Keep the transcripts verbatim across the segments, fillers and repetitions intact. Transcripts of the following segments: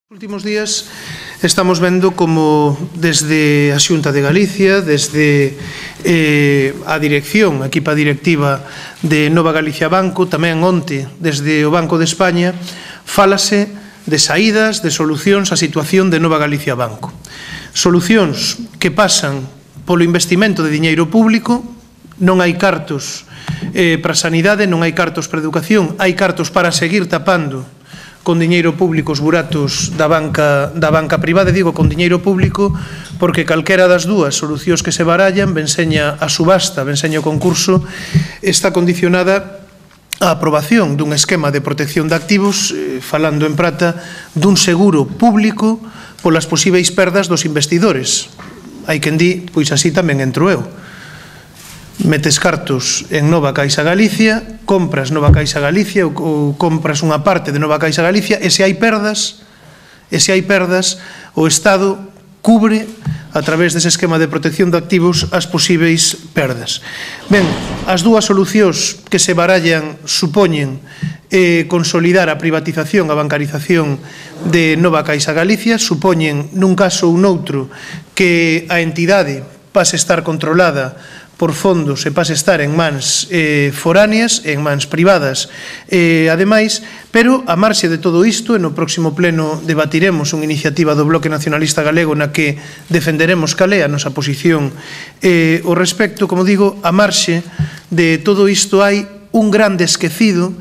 Nos últimos días estamos vendo como desde a Xunta de Galicia, desde eh, a dirección, a equipa directiva de Nova Galicia Banco, tamén onte desde o Banco de España, fálase de saídas, de solucións á situación de Nova Galicia Banco. Solucións que pasan polo investimento de diñeiro público, non hai cartos eh, para a sanidade, non hai cartos para a educación, hai cartos para seguir tapando con diñeiro público os buratos da banca, da banca privada, digo con diñeiro público porque calquera das dúas solucións que se barallan, venseña a subasta, venseña o concurso, está condicionada a aprobación dun esquema de protección de activos, eh, falando en prata, dun seguro público polas posíveis perdas dos investidores. Hai quen di, pois así tamén entro eu. Metes cartos en Nova Caixa Galicia, compras Nova Caixa Galicia ou, ou compras unha parte de Nova Caixa Galicia e se hai perdas, e se hai perdas, o Estado cubre a través dese esquema de protección de activos as posíveis perdas. Ben, as dúas solucións que se barallan supoñen eh, consolidar a privatización, a bancarización de Nova Caixa Galicia, supoñen nun caso ou noutro que a entidade pase a estar controlada por fondos e pase a estar en mans eh, foráneas, en mans privadas, eh, ademais, pero a marxe de todo isto, e no próximo pleno debatiremos unha iniciativa do Bloque Nacionalista Galego na que defenderemos cal é a nosa posición eh, o respecto, como digo, a marxe de todo isto hai un grande esquecido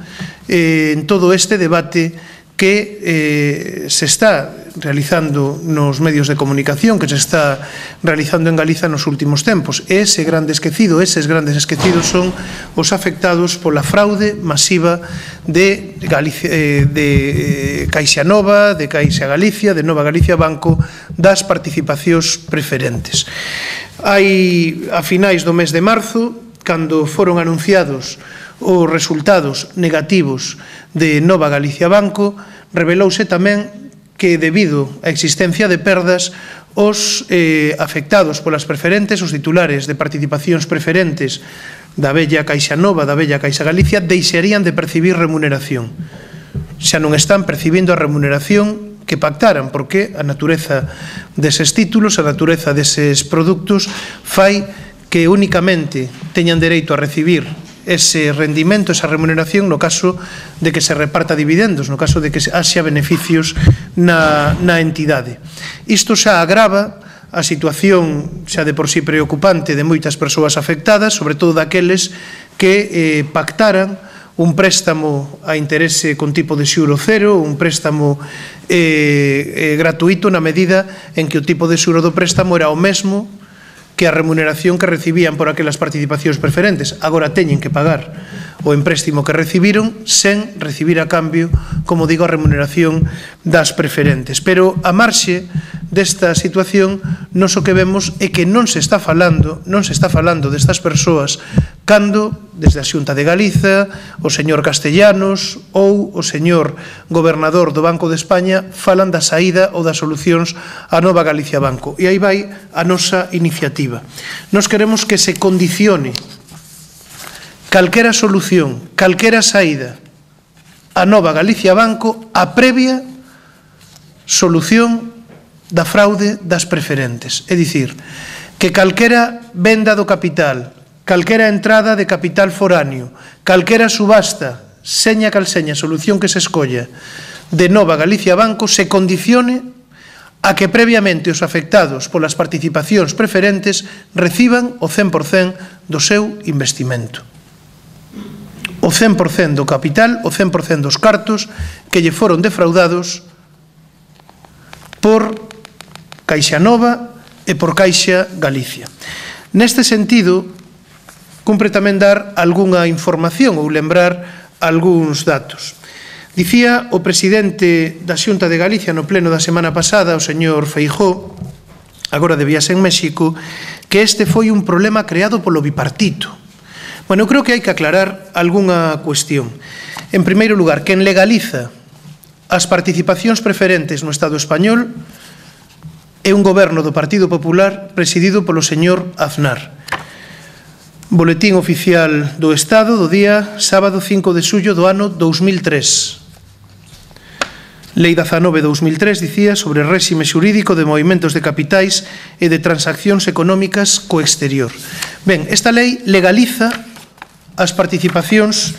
eh, en todo este debate que eh, se está realizando nos medios de comunicación, que se está realizando en Galiza nos últimos tempos. E ese grande esquecido, eses grandes esquecidos son os afectados pola fraude masiva de, Galicia, eh, de Caixa Nova, de Caixa Galicia, de Nova Galicia Banco, das participacións preferentes. Hai, a finais do mes de marzo, cando foron anunciados os resultados negativos de Nova Galicia Banco, revelouse tamén que debido á existencia de perdas os eh, afectados polas preferentes, os titulares de participacións preferentes da bella Caixa Nova, da bella Caixa Galicia, deixarían de percibir remuneración. Xa non están percibindo a remuneración que pactaran, porque a natureza deses títulos, a natureza deses produtos fai que únicamente teñan dereito a recibir ese rendimento, esa remuneración no caso de que se reparta dividendos, no caso de que haxa beneficios na, na entidade. Isto xa agrava a situación xa de por sí preocupante de moitas persoas afectadas, sobre todo daqueles que eh, pactaran un préstamo a interese con tipo de xuro cero, un préstamo eh, eh, gratuito na medida en que o tipo de xuro do préstamo era o mesmo que a remuneración que recibían por aquelas participacións preferentes. Agora teñen que pagar o empréstimo que recibiron sen recibir a cambio, como digo, a remuneración das preferentes. Pero a marxe desta situación, nos o que vemos é que non se está falando, non se está falando destas persoas cando, desde a Xunta de Galiza, o señor Castellanos ou o señor gobernador do Banco de España falan da saída ou das solucións a Nova Galicia Banco. E aí vai a nosa iniciativa. Nos queremos que se condicione calquera solución, calquera saída a Nova Galicia Banco a previa solución da fraude das preferentes. É dicir, que calquera venda do capital, calquera entrada de capital foráneo, calquera subasta, seña cal seña, solución que se escolla de Nova Galicia Banco, se condicione a que previamente os afectados polas participacións preferentes reciban o cen por cen do seu investimento. O cen por cen do capital, o cen por cen dos cartos que lle foron defraudados por Caixa Nova e por Caixa Galicia. Neste sentido, cumpre tamén dar algunha información ou lembrar algúns datos. Dicía o presidente da Xunta de Galicia no pleno da semana pasada, o señor Feijóo, agora de viaxe en México, que este foi un problema creado polo bipartito. Bueno, eu creo que hai que aclarar algunha cuestión. En primeiro lugar, quen legaliza as participacións preferentes no Estado español é un goberno do Partido Popular presidido polo señor Aznar. Boletín oficial do Estado do día sábado cinco de xullo do ano dous mil tres. Lei dezanove barra dous mil tres dicía sobre réxime xurídico de movimentos de capitais e de transaccións económicas co exterior. Ben, esta lei legaliza as participacións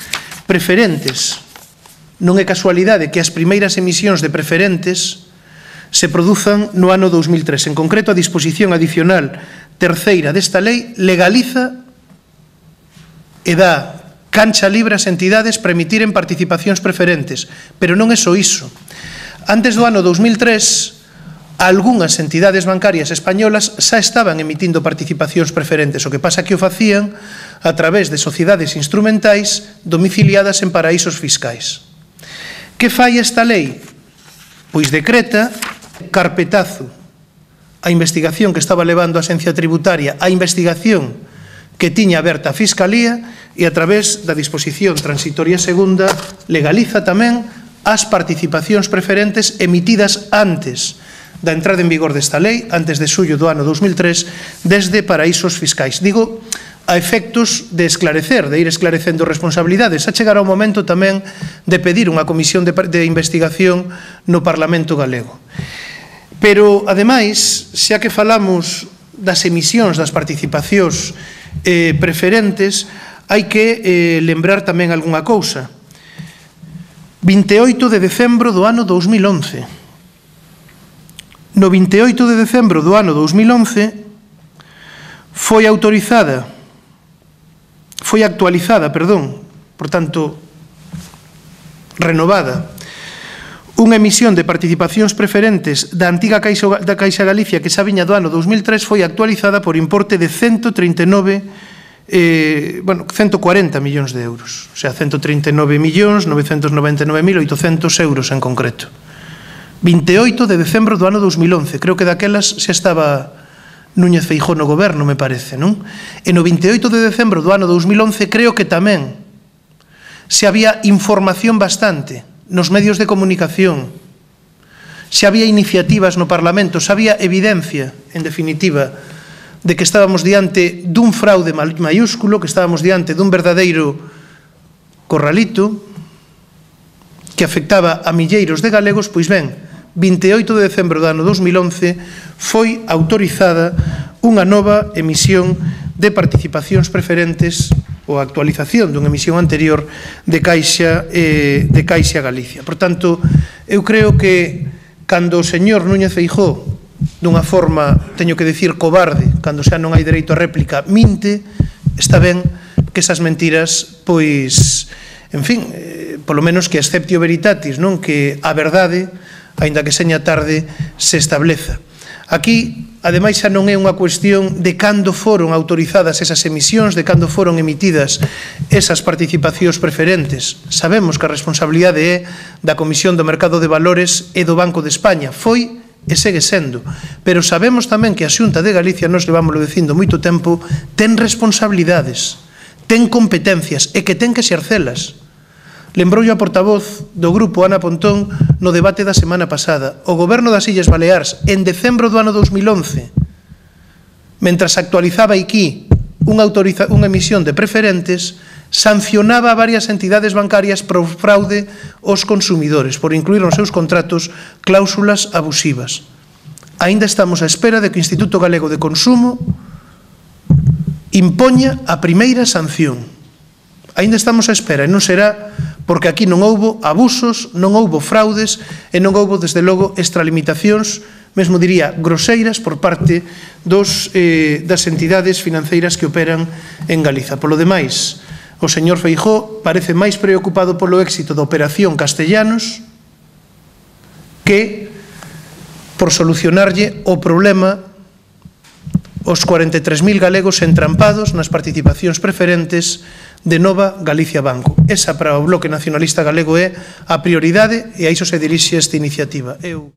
preferentes. Non é casualidade que as primeiras emisións de preferentes se produzan no ano dous mil tres. En concreto, a disposición adicional terceira desta lei legaliza e dá cancha libre ás entidades para emitir en participacións preferentes. Pero non é só iso. Antes do ano dous mil tres, algunhas entidades bancarias españolas xa estaban emitindo participacións preferentes, o que pasa que o facían a través de sociedades instrumentais domiciliadas en paraísos fiscais. Que fai esta lei? Pois decreta carpetazo a investigación que estaba levando a Axencia Tributaria, a investigación que tiña aberta a Fiscalía, e a través da disposición transitoria segunda legaliza tamén as participacións preferentes emitidas antes da entrada en vigor desta lei, antes de xullo do ano dous mil tres, desde paraísos fiscais. Digo, a efectos de esclarecer, de ir esclarecendo responsabilidades. A chegar ao momento tamén de pedir unha comisión de, de investigación no Parlamento galego. Pero, ademais, xa que falamos das emisións das participacións eh, preferentes, hai que eh, lembrar tamén algunha cousa. vinte e oito de decembro do ano dous mil once. No vinte e oito de decembro do ano dous mil once foi autorizada, foi actualizada, perdón, por tanto, renovada, unha emisión de participacións preferentes da antiga Caixa, da Caixa Galicia que xa viña do ano dous mil tres, foi actualizada por importe de ciento trinta e nove Eh, bueno, ciento cuarenta millóns de euros, o sea, ciento trinta e nove millóns novecentos noventa e nove mil oitocentos euros en concreto. vinte e oito de decembro do ano dous mil once, creo que daquelas xa estaba Núñez Feijóo no goberno, me parece, non? E no vinte e oito de decembro do ano dous mil once creo que tamén se había información bastante nos medios de comunicación, se había iniciativas no Parlamento, se había evidencia, en definitiva, de que estábamos diante dun fraude mayúsculo, que estábamos diante dun verdadeiro corralito que afectaba a milleiros de galegos. Pois ben, vinte e oito de decembro do ano dous mil once foi autorizada unha nova emisión de participacións preferentes ou actualización dunha emisión anterior de Caixa, eh, de Caixa Galicia. Por tanto, eu creo que cando o señor Núñez Feijóo, dunha forma, teño que dicir, cobarde, cando xa non hai dereito a réplica, minte, está ben que esas mentiras, pois, en fin, eh, polo menos que exceptio veritatis, non? Que a verdade, aínda que seña tarde, se estableza. Aquí, ademais, xa non é unha cuestión de cando foron autorizadas esas emisións, de cando foron emitidas esas participacións preferentes. Sabemos que a responsabilidade é da Comisión do Mercado de Valores e do Banco de España. Foi e segue sendo, pero sabemos tamén que a Xunta de Galicia, nos levámoslo dicindo moito tempo, ten responsabilidades, ten competencias e que ten que exercelas. Lembroulle a portavoz do grupo Ana Pontón no debate da semana pasada. O goberno das Illas Baleares, en decembro do ano dous mil once, mentras actualizaba aquí unha, unha emisión de preferentes, sancionaba a varias entidades bancarias por fraude aos consumidores, por incluir nos seus contratos cláusulas abusivas. Aínda estamos á espera de que o Instituto Galego de Consumo impoña a primeira sanción. Aínda estamos á espera, e non será porque aquí non houbo abusos, non houbo fraudes e non houbo, desde logo, extralimitacións, mesmo diría groseiras, por parte dos, eh, das entidades financeiras que operan en Galiza. Polo demais, o señor Feijóo parece máis preocupado polo éxito da operación Castellanos que por solucionarlle o problema os cuarenta e tres mil galegos entrampados nas participacións preferentes de Nova Galicia Banco. Esa para o Bloque Nacionalista Galego é a prioridade e a iso se dirixe esta iniciativa. Eu...